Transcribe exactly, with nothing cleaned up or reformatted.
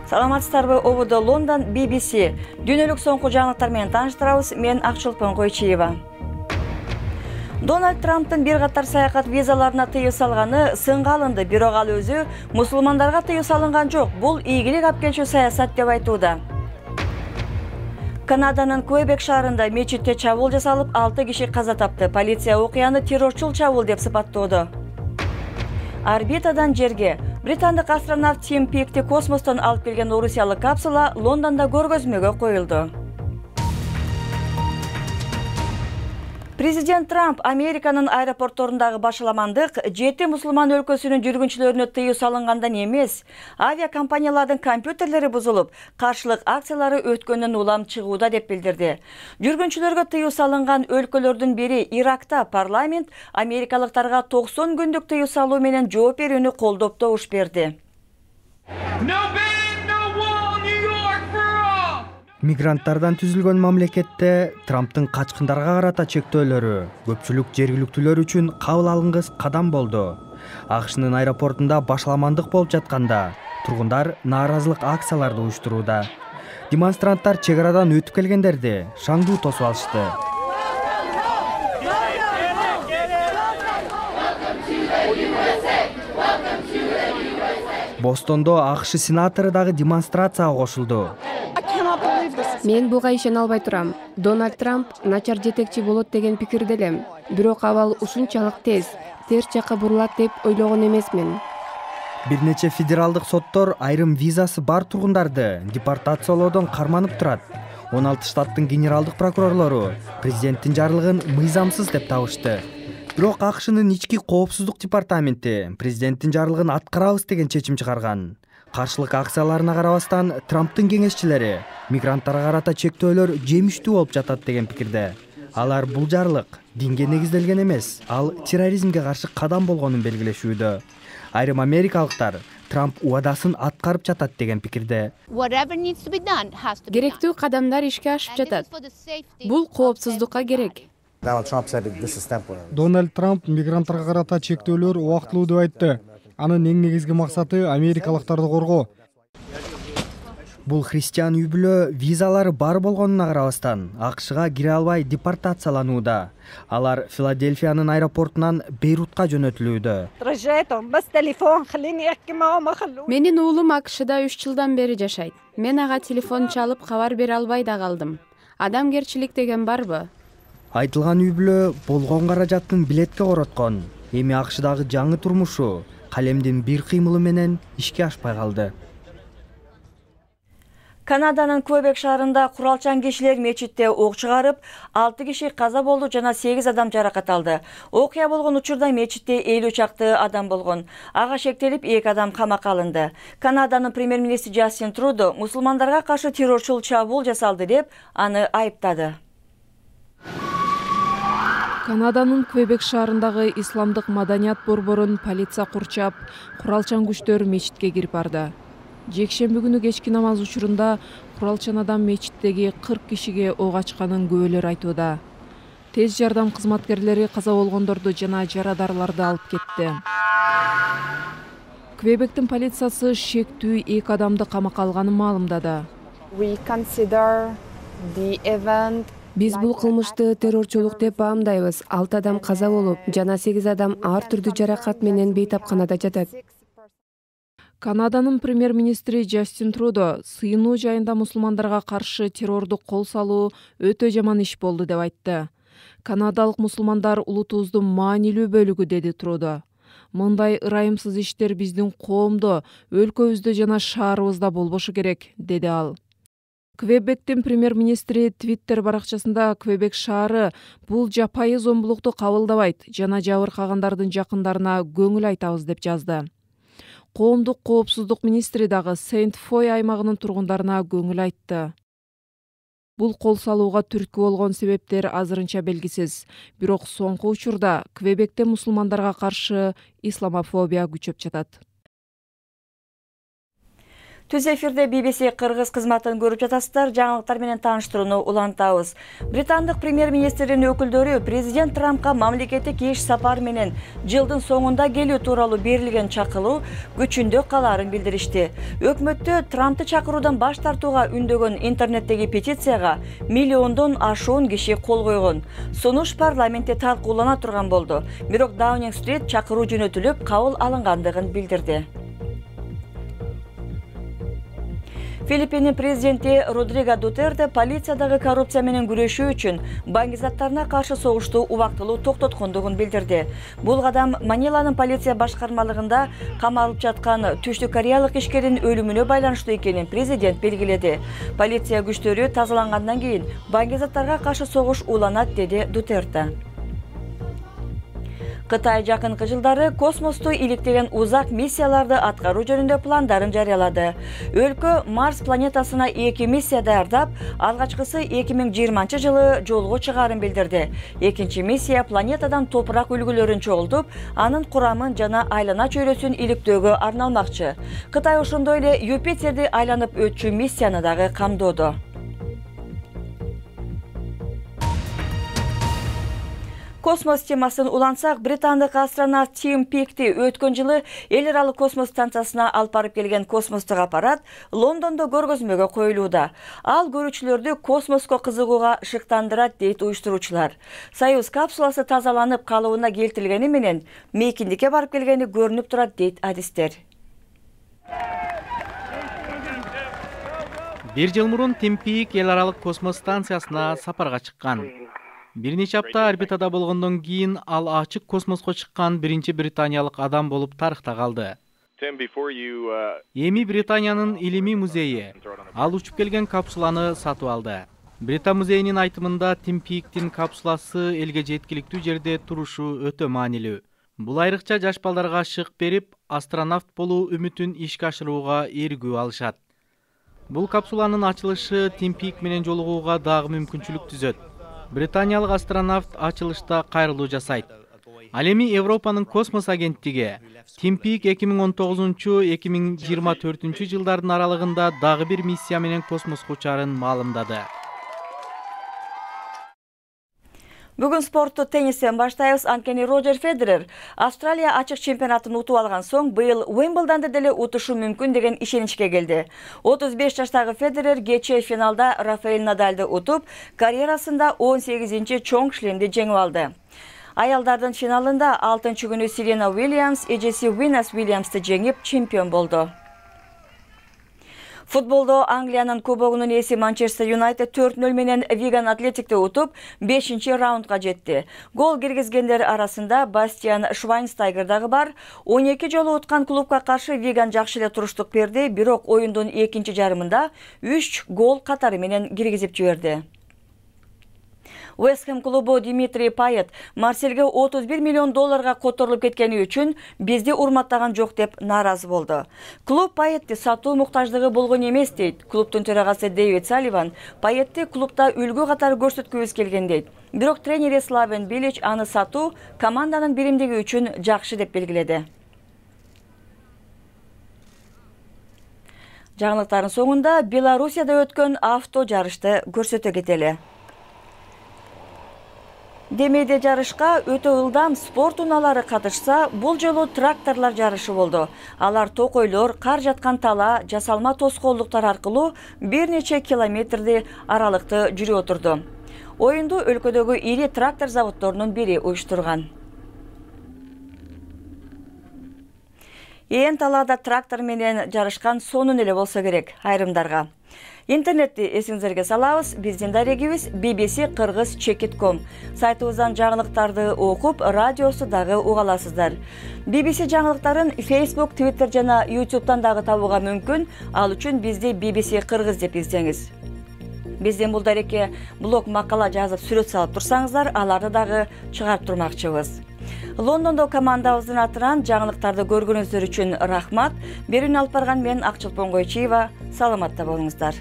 Саламатсыздарбы, ободо Лондон би би си. Дүйнөлүк соңку жаңылыктар менен тааныштырабыз. Мен Акчылпан Койчиева. Дональд Трамптын бир катар саякат визаларына тыюу салганы сынга алынды, бирок ал өзү мусулмандарга тыюу салынган жок. Бул ийгилик алып келчү саясат деп айтууда. Канаданын Квебек шаарында мечитте чабуул жасалып, алты киши каза тапты. Полиция окуяны террорчул чабуул деп сыпаттоодо. Орбитадан жерге британдык астронавт Тим Пикти космостон алып келген орусиялык капсула Лондондо көргөзмөгө коюлду. Президент Трамп Американын аэропортторундагы башаламандык жети мусулман өлкөсүнүн жүргүнчүлөрүнө тыюу салынгандан эмес, авиакомпаниялардын компьютерлери бузулуп, каршылык акциялары өткөндөн улам чыгууда деп билдирди. Жүргүнчүлөргө тыюу салынган өлкөлөрдүн бири Иракта парламент америкалыктарга токсон күндүк тыюу салуу менен жооп берүүнү колдоп добуш берди. Мигранттардан түзүлгөн мамлекетте Трамптын качкындарга карата чектөөлөрү көпчүлүк жергиликтүүлөр үчүн кабыл алынгыс кадам болду. АКШнын аэропортунда башаламандык болуп жатканда тургундар нааразылык акцияларды уюштурууда. Демонстранттар чек арадан өтүп келгендерди шаңдуу тосуп алышты. Бостондо АКШ сенатору дагы демонстрацияга кошулду. Мен буга ишене албай турам. Дональд Трамп начар жетекчи болот деген пикирде элем. Бирок абал ушунчалык тез, терс жакка бурулат деп ойлогон эмесмин. Бир нече федералдык соттор айрым визасы бар тургундарды депортациялоодон карманып турат. он алты штаттын генералдык прокурорлору президенттин жарлыгын мыйзамсыз деп табышты. Бирок АКШнын ички коопсуздук департаменти президенттин жарлыгын аткарабыз деген чечим чыгарган. Каршылык акцияларына карабастан Трамптын кеңешчилери мигранттарга карата чектөөлөр жемиштүү болуп жатат деген пикирде. Алар бул жарлык динге негизделген эмес, ал терроризмге каршы кадам болгонун белгилешүүдө. Айрым америкалыктар Трамп убадасын аткарып жатат деген пикирде. Керектүү кадамдар ишке ашып жатат. Бул коопсуздукка керек. Дональд Трамп мигранттарга карата чектөөлөр убактылуу деп айтты. Анын эң негизги максаты америкалыктарды коргоо. Бул христиан үй-бүлө визалары бар болгонуна карабастан АКШга кире албай депортацияланууда. Алар Филадельфиянын аэропортунан Бейрутка жөнөтүлүүдө. Менин уулум АКШда үч жылдан бери жашайт. Мен ага телефон чалып кабар бере албай да калдым. Адамгерчилик деген барбы? Айтылган үй-бүлө болгон каражатын билетке короткон. Эми АКШдагы жаңы турмушу калемдин бир кыймылы менен ишке ашпай калды. Канаданын Квебек шаарында куралчан кишилер мечитте ок чыгарып, алты киши каза болду жана сегиз адам жаракат алды. Окуя болгон учурда мечитте элүү чакты адам болгон. Ага шектелип эки адам камакка алынды. Канаданын премьер-министри Джастин Трудо мусулмандарга каршы террорчул чабуул жасалды деп аны айыптады. Канаданын Квебек шаарындагы исламдык маданият борборун полиция курчап, куралчан күчтөр мечитке кирип барды. Жекшемби күнү кечки намаз учурунда куралчан адам мечиттеги кырк кишиге ок ачканын күбөлөр айтууда. Тез жардам кызматкерлери каза болгондорду жана жарадарларды алып кетти. Квебектин полициясы шектүү эки адамды камакка алганын маалымдады. Биз бул кылмышты террорчулук деп баамдайбыз. алты адам каза болуп, жана сегиз адам ар түрдүү жаракат менен бейтапканада жатат. Канаданын премьер-министри Джастин Трудо сыйынуу жайында мусулмандарга каршы террорду кол салуу өтө жаман иш болду деп айтты. Канадалык мусулмандар улутубуздун маанилүү бөлүгү, деди Трудо. Мындай ырайымсыз иштер биздин коомдо, өлкөбүздө жана шаарыбызда болбошу керек, деди ал. Квебектин премьер-министри Твиттер баракчасында Квебек шаары бул жапайы зомбулукту кабылдабайт жана жабыркагандардын жакындарына көңүл айтабыз деп жазды. Коомдук коопсуздук министри дагы Сент-Фой аймагынын тургундарына көңүл айтты. Бул кол салууга түрткү болгон себептер азырынча белгисиз. Бирок соңку учурда Квебекте мусулмандарга каршы исламофобия күчөп жатат. Түз эфирде би би си кыргыз кызматын көрүп жатасыздар. Жаңылыктар менен тааныштырууну улантабыз. Британдык премьер-министрдин өкүлдөрү президент Трампка мамлекеттик иш сапар менен жылдын соңунда келүү тууралуу берилген чакыруу күчүндө калаарын билдиришти. Өкмөттө Трампты чакыруудан баш тартууга үндөгөн интернеттеги петицияга миллиондон ашуун киши кол койгон. Сунуш парламентте талкуулана турган болду. Бирок Даунинг-стрит чакыруу жөнөтүлүп, кабыл алынгандыгын билдирди. Филиппиндин президенти Родриго Дутерте полициядагы коррупция менен күрөшүү үчүн баңгизаттарына каршы согушту убактылуу токтоткондугун билдирди. Бул кадам Маниланын полиция башкармалыгында камалып жаткан Түштүк Кореялык ишкердин өлүмүнө байланыштуу экенин президент белгиледи. Полиция күчтөрү тазалангандан кийин баңгизаттарга каршы согуш уланат, деди Дутерте. Кытай жакынкы жылдары космосту иликтеген узак миссияларды аткаруу жөнүндө пландарын жарыялады. Өлкө Марс планетасына эки миссия даярдап, алгачкысы эки миң жыйырманчы жылы жолго чыгаарын билдирди. Экинчи миссия планетадан топурак үлгүлөрүн чогултуп, анын курамын жана айлана чөйрөсүн иликтөөгө арналмакчы. Кытай ошондой эле Юпитерди айланып өтчү миссияны дагы камдоодо. Космос темасын улансак, британдык астронавт Тим Пикти өткөн жылы эл аралык космос станциясына алып барып келген космостук аппарат Лондондо көргөзмөгө коюлууда. Ал көрүүчүлөрдү космоско кызыгууга шыктандырат, дейт уюштуруучулар. Союз капсуласы тазаланып калыбына келтирилгени менен мейкиндикке барып келгени көрүнүп турат, дейт адистер. Бир жыл мурун Тим Пик эл аралык космос станциясына сапарга чыккан. Бир нече апта орбитада болгондон кийин ал ачык космоско чыккан биринчи британиялык адам болуп тарыхта калды. Эми Британиянын илимий музейи ал учуп келген капсуланы сатып алды. Брита музейинин айтымында Тим Пиктин капсуласы элге жеткиликтүү жерде турушу өтө маанилүү. Бул айрыкча жаш балдарга шык берип, астронавт болуу үмүтүн ишке ашырууга эргүү алышат. Бул капсуланын ачылышы Тим Пик менен жолугууга дагы мүмкүнчүлүк түзөт. Британиялык астронавт ачылышта кайрылуу жасайт. Ал эми Европанын космос агенттиги Тим Пик эки миң он тогузунчу — эки миң жыйырма төртүнчү жылдардын аралыгында дагы бир миссия менен космоско учаарын маалымдады. Бүгүн спортту теннистен баштайбыз. Анткени Роджер Федерер Австралия ачык чемпионатын утуп алган соң быйыл Уимблдонду деле утушу мүмкүн деген ишеничке келди. отуз беш жаштагы Федерер кечээ финалда Рафаэль Надальды утуп, карьерасында он сегизинчи чоң шлемди жеңип алды. Аялдардын финалында алтынчы күнү Сирена Уильямс эжеси Винас Уильямсты жеңип чемпион болду. Футболдо Англиянын кубогунун ээси Манчестер Юнайтед төрт нөл менен Виган Атлетикти утуп, бешинчи раундга жетти. Гол киргизгендер арасында Бастиан Швайнстайгер дагы бар. он эки жолу уткан клубка каршы Виган жакшы эле туруштук берди, бирок оюндун экинчи жарымында үч гол катары менен киргизип жиберди. West Ham клубу Димитрий Пайет Марсельге отуз бир миллион долларга которулуп кеткени үчүн бизди урматтаган жок деп нааразы болду. Клуб Пайетти сатуу муктаждыгы болгон эмес, дейт. Клубтун төрагасы Дэвид Салливан Пайетти клубда үлгү катары көрсөткүбүз келген, дейт. Бирок тренери Славен Билич аны сатуу команданын биримдиги үчүн жакшы деп белгиледи. Жаңылыктардын соңунда Белоруссияда өткөн авто жарышты көрсөтө кетели. Демейде жарышка өтө ылдам спорт унаалары катышса, бул жолу тракторлар жарышы болду. Алар токойлор, кар жаткан тала, жасалма тоскоолдуктар аркылуу бир нече километрди аралыкты жүрүп отурду. Оюнду өлкөдөгү ири трактор заводдорунун бири уюштурган. Ээн талаада трактор менен жарышкан сонун эле болсо керек айрымдарга. Интернетти эсиңизерге салабыз. Биздин дарегибиз би би си кыргыз чекит точка ком. Сайтыбыздан жаңылыктарды окуп, радиосу дагы уга аласыздар. би би си жаңылыктарын Facebook, Twitter жана YouTube'дан дагы табууга мүмкүн. Ал үчүн бизди би би си кыргыз деп издеңиз. Биздин бул дарекке блог макала жазып сүрөт салып турсаңыздар, аларды дагы чыгарып турмакчыбыз. Лондондо командабыздын атынан жаңылыктарды көргөнүңүздөр үчүн рахмат. Берүүнү алып барган мен Акчылпон Койчиева. Саламатта болуңуздар.